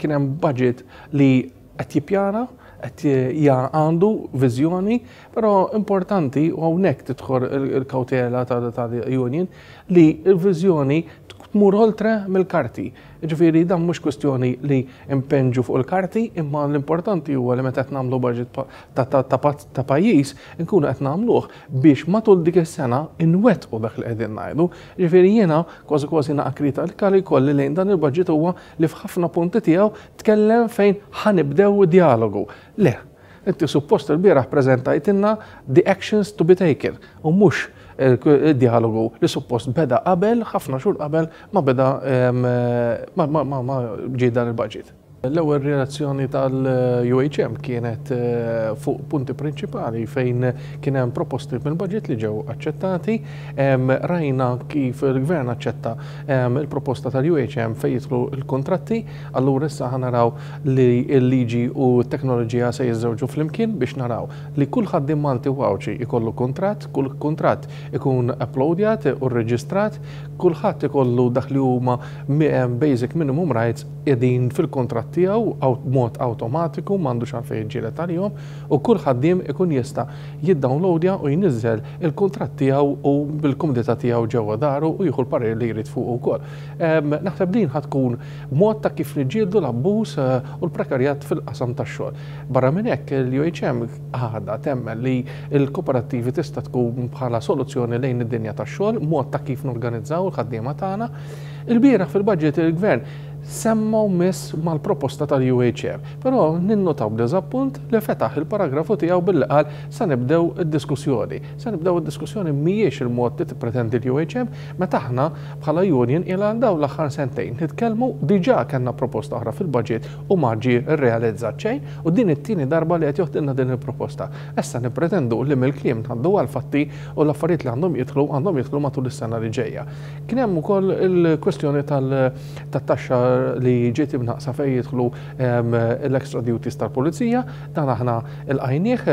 Kien hemm budget li qed jippjana, qed għandu viżjoni, però importanti u hawnhekk tidħol il-kawtela tal-union li l-viżjoni tmur oltre mill-karti. Jiġifieri dan mhux kwistjoni li npenġu fuq il-karti, imma l-importanti huwa li meta qed nagħmlu budget ta' pajjiż inkunu qed nagħmluh biex matul dik is-sena nwettqu dak li qegħdin ngħidu. Jiġifieri jiena kważi kważi naqa' kritika li jkolli lejn dan il-budget huwa li f'ħafna punti tiegħu tkellem fejn ħa nibdew djalogu. Le, inti suppost ilbieraħ preżentajtilna the actions to be taken u mhux id-djalogu li suppost beda qabel, ħafna xhur qabel ma beda ma ġie dan il-budget. L-ewwel reazzjoni tal-UHM kienet fuq punti prinċipali fejn kien hemm proposti mill-budget li ġew aċċettati. Rajna kif il-Gvern aċċetta il-proposta tal-UHM fejn jidħlu l-kuntratti, allura issa ħa naraw li l-liġi u t-teknoloġija se jiżżewġu flimkien biex naraw li kull ħaddiem Malti u Għawdxi jkollu kuntratt, kull kuntratt ikun uploadjat u rreġistrat, kulħadd ikollu dak li huma basic minimum rights qegħdin fil-kuntratt tiegħu b'mod awtomatiku, m'għandux għalfejn jiġġieled għalihom, u kull ħaddiem ikun jista' jiddownloadja u jniżżel il-kuntratt tiegħu u bil-kumdità tiegħu ġewwa daru u jieħu l-parir li jrid fuqu wkoll. Naħseb din ħa tkun mod ta' kif niġġieldu l-abbuż u l-prekarjat fil-qasam tax-xogħol. Barra minn hekk, l-UHM għadha temmen li l-kooperattivi tista' tkun bħala soluzzjoni lejn id-dinja tax-xogħol, mod ta' kif norganizzaw il-ħaddiema tagħna. Ilbieraħ fil-budget il-Gvern semma u miss mal-proposta tal-UHR, però ninnotaw b'diżappunt li fetaħ il-paragrafu tiegħu billi qal se nibdew id-diskussjoni. Se nibdew id-diskussjoni mhijiex il-mod li tippretendi l-UHM meta aħna bħala union ilha għal dawn l-aħħar sentejn nitkellmu, diġà kellna proposta oħra fil-budget u ma ġie rrealizzat xejn u din it-tieni darba li qed joħdilna din il-proposta. Issa nippretendu li mill-kliem ngħaddu għall-fatti u l-affarijiet li għandhom jidħlu għandhom jidħlu matul is-sena li ġejja. Kien hemm ukoll il-kwestjoni tat-taxxa li ġiet imnaqqsa fejn jidħlu l-extra duties tal-pulizija, dan aħna lqajnieh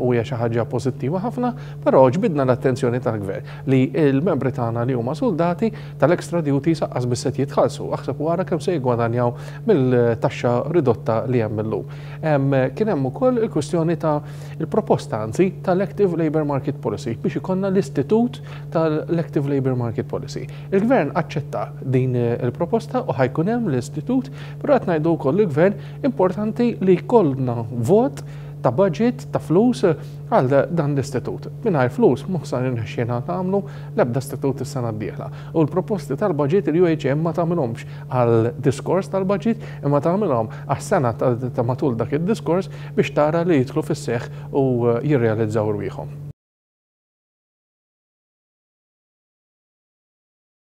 u hija xi ħaġa pożittiva ħafna, però ġbidna l-attenzjoni tal-Gvern li l-membri tagħna li huma suldati tal-extra duties aqqas biss qed jitħallsu, aħseb u ara kemm se jiggwadanjaw mill-taxxa ridotta li hemm illum. Kien hemm ukoll il-kwestjoni ta' il-proposta anzi tal-Active Labour Market Policy biex ikollna l-istitut tal-Active Labour Market Policy. Il-Gvern aċċetta din il-proposta u ħa jkun hemm l-istitut, però qed ngħidu wkoll lill-Gvern importanti li jkollna vot ta' budget ta' flus għal dan l-istitut. Mingħajr flus mhux se nirnexxielna nagħmlu l-ebda istitut is-sena d-dieħla. U l-proposti tal-budget il-UHM ma tagħmilhomx għal diskors tal-budget imma tagħmilhom għas-sena ta' matul dak id-diskors biex tara li jidħlu fis-seħħ u jirrealizzaw rwieħhom.